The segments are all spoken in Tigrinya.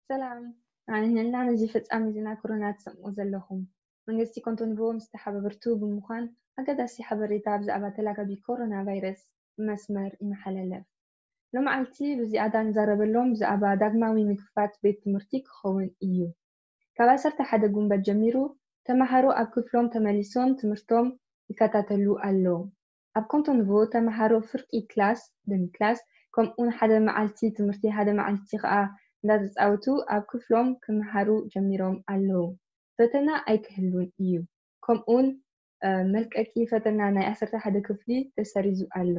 ሰላም፣ ኣንህልና ነዚ ፈጻሚ ዜና ኮሮና ትሰምዑ ዘለኹም። መንግስቲ ኮንቶንቮ ምስ ተሓባበርቱ ብምዃን ኣገዳሲ ሓበሬታ ብዛዕባ ተላጋቢ ኮሮና ቫይረስ ብመስመር ይመሓላለፍ። ሎመዓልቲ ብዝያዳ ንዛረበሎም ብዛዕባ ዳግማዊ ምክፋት ቤት ትምህርቲ ክኸውን እዩ። ካብ ዓሰርተ ሓደ ጉንበት ጀሚሩ ተማሃሮ ኣብ ክፍሎም ተመሊሶም ትምህርቶም ይከታተሉ ኣለዉ። ኣብ ኮንቶንቮ ተማሃሮ ፍርቂ ክላስ፣ ደሚ ክላስ፣ ከምኡውን ሓደ መዓልቲ ትምህርቲ ሓደ መዓልቲ ከኣ እንዳተጻወቱ ኣብ ክፍሎም ክመሃሩ ጀሚሮም ኣለዉ። ፈተና ኣይክህሉን እዩ። ከምኡውን መልቀቂ ፈተና ናይ ዓሰርተ ሓደ ክፍሊ ተሰሪዙ ኣሎ።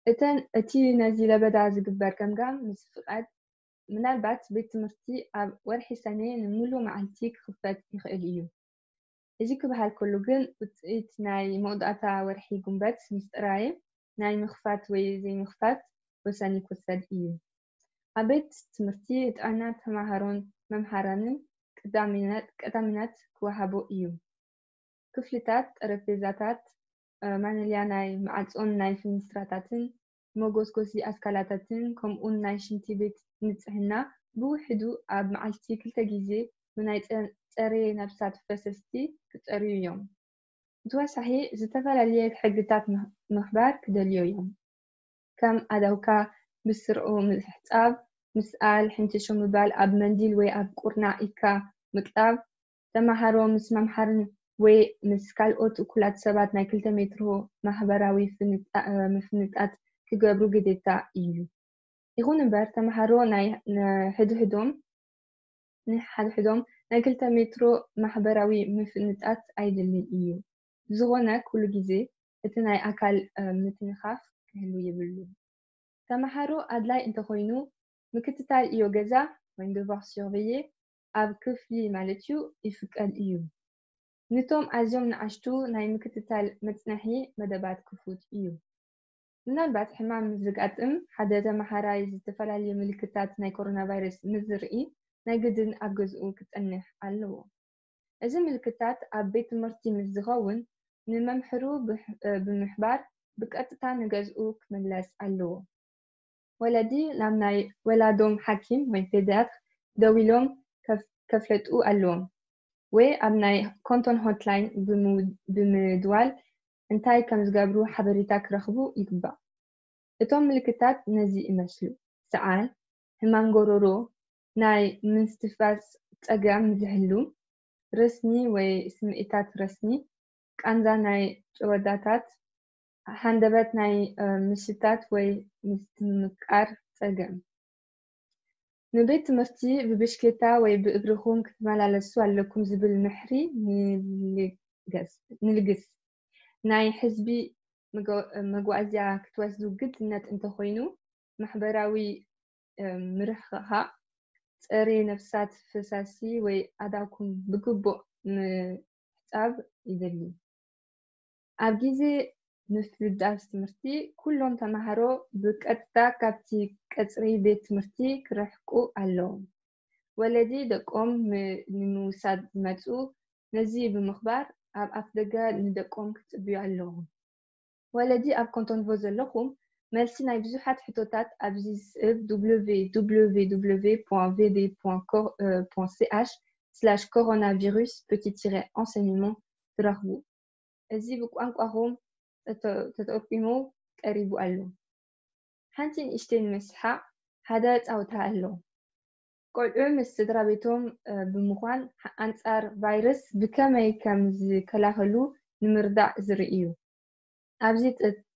እተን እቲ ነዚ ለበዳ ዝግበር ገምጋም ምስ ፍቓድ ምናልባት ቤት ትምህርቲ ኣብ ወርሒ ሰነ ንምሉእ መዓልቲ ክኽፈት ይኽእል እዩ። እዚ ክበሃል ከሎ ግን ውፅኢት ናይ መውዳእታ ወርሒ ጉንበት ምስ ጥራይ ናይ ምኽፋት ወይ ዘይምኽፋት ወሳኒ ክወሰድ እዩ። ኣብ ቤት ትምህርቲ ጥዕና ተማሃሮን መምሃራንን ቀዳምነት ክወሃቦ እዩ። ክፍልታት፣ ጠረጴዛታት፣ ማንልያ ናይ መዓጾን ናይ ፍንስትራታትን መጎስጎሲ ኣስካላታትን ከምኡን ናይ ሽንቲ ቤት ንጽህና ብውሕዱ ኣብ መዓልቲ ክልተ ግዜ ብናይ ጸሬ ነብሳት ፈሰስቲ ክጸርዩ እዮም። ብተወሳኺ ዝተፈላለየ ሕግታት ምኽባር ክደልዮ እዮም። ከም ኣዳውካ ብስርዑ ምሕጻብ፣ ምስኣል፣ ሕንችሾ ምባል፣ ኣብ መንዲል ወይ ኣብ ቁርናዕ ኢድካ ምቅላብ፣ ተማሃሮ ምስ መምሓርን ወይ ምስ ካልኦት እኩላት ሰባት ናይ ክልተ ሜትሮ ማሕበራዊ ምፍንጣት ክገብሩ ግዴታ እዩ። ይኹን እምበር ተማሃሮ ናይ ሕድሕዶም ንሓድሕዶም ናይ ክልተ ሜትሮ ማሕበራዊ ምፍንጣት ኣይድልን እዩ። ብዝኾነ ኩሉ ግዜ እቲ ናይ ኣካል ምትንኻፍ ክህሉ የብሉን። ተማሃሮ ኣድላይ እንተኾይኑ ምክትታል እዮ ገዛ ወይም devoir surveiller ኣብ ክፍሊ ማለት እዩ ይፍቀድ እዩ። ንቶም ኣዝዮም ንኣሽቱ ናይ ምክትታል መጽናሒ መደባት ክፉት እዩ። ምናልባት ሕማም ምስ ዝጋጥም ሓደ ተመሃራይ ዝተፈላለዩ ምልክታት ናይ ኮሮና ቫይረስ ምስ ዝርኢ ናይ ግድን ኣብ ገዝኡ ክጸንሕ ኣለዎ። እዚ ምልክታት ኣብ ቤት ትምህርቲ ምስ ዝኸውን ንመምህሩ ብምሕባር ብቀጥታ ንገዝኡ ክምለስ ኣለዎ። ወለዲ ናብ ናይ ወላዶም ሓኪም ወይ ፔድያትር ደዊሎም ከፍለጡ ኣለዎም ወይ ኣብ ናይ ኮንቶን ሆትላይን ብምድዋል እንታይ ከም ዝገብሩ ሓበሬታ ክረኽቡ ይግባእ። እቶም ምልክታት ነዚ ይመስሉ፣ ሰዓል፣ ሕማም ጎሮሮ፣ ናይ ምስትንፋስ ጸገም ዝህሉ፣ ረስኒ ወይ ስምዒታት ረስኒ፣ ቃንዛ ናይ ጭወዳታት፣ ሃንደበት ናይ ምሽታት ወይ ምስትምቃር ጸገም። ንቤት ትምህርቲ ብብሽክሌታ ወይ ብእግርኹም ክትመላለሱ ኣለኩም ዝብል ምሕሪ ንልግስ። ናይ ሕዝቢ መጓዓዝያ ክትወስዱ ግድነት እንተኾይኑ ማሕበራዊ ምርሕኻእ፣ ጸሬ ነብሳት፣ ፈሳሲ ወይ ኣዳኩም ብግቡእ ምሕጻብ ይደሊ። ኣብ ግዜ ምፍዳስ ትምህርቲ ኩሎም ተማሃሮ ብቀጥታ ካብቲ ቀጽሪ ቤት ትምህርቲ ክርሕቁ ኣለዎም። ወለዲ ደቆም ንምውሳድ ዝመጹ ነዚ ብምኽባር ኣብ ኣፍደገ ንደቆም ክጽብዩ ኣለዎም። ወለዲ ኣብ ኮንቶንቮ ዘለኹም መልሲ ናይ ብዙሓት ሕቶታት ኣብዚ ዝስዕብ www.vd.ch/coronavirus enseignement ትረኽቡ። እዚ ብቋንቋኹም ተተርጒሙ ቀሪቡ ኣሎ። ሓንቲ ንእሽተይ ንምስሓቕ ሓደ ጻውታ ኣሎ። ቆልዑ ምስ ስድራ ቤቶም ብምዃን ኣንጻር ቫይረስ ብከመይ ከም ዝከላኸሉ ንምርዳእ ዝርኢ እዩ። ኣብዚ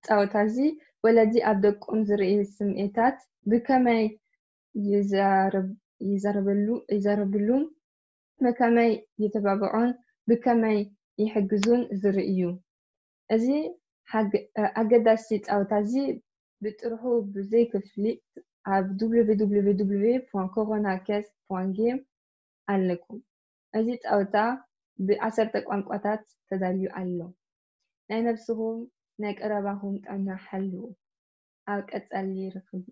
ጻውታ እዚ ወለዲ ኣብ ደቆም ዝርኢ ስምዒታት ብከመይ ይዛረብሉን ብከመይ የተባብዖን ብከመይ ይሕግዙን ዝርኢ እዩ። እዚ ኣገዳሲ ጻውታ እዚ ብጥርሑ ብዘይ ክፍሊት ኣብ www.coronacares.game ኣለኩም። እዚ ጻውታ ብዓሰርተ ቋንቋታት ተዳልዩ ኣሎ። ናይ ነብስኹም ናይ ቀረባኹም ጥዕና ሓልዉ። ኣብ ቀጻሊ ርኽቢ።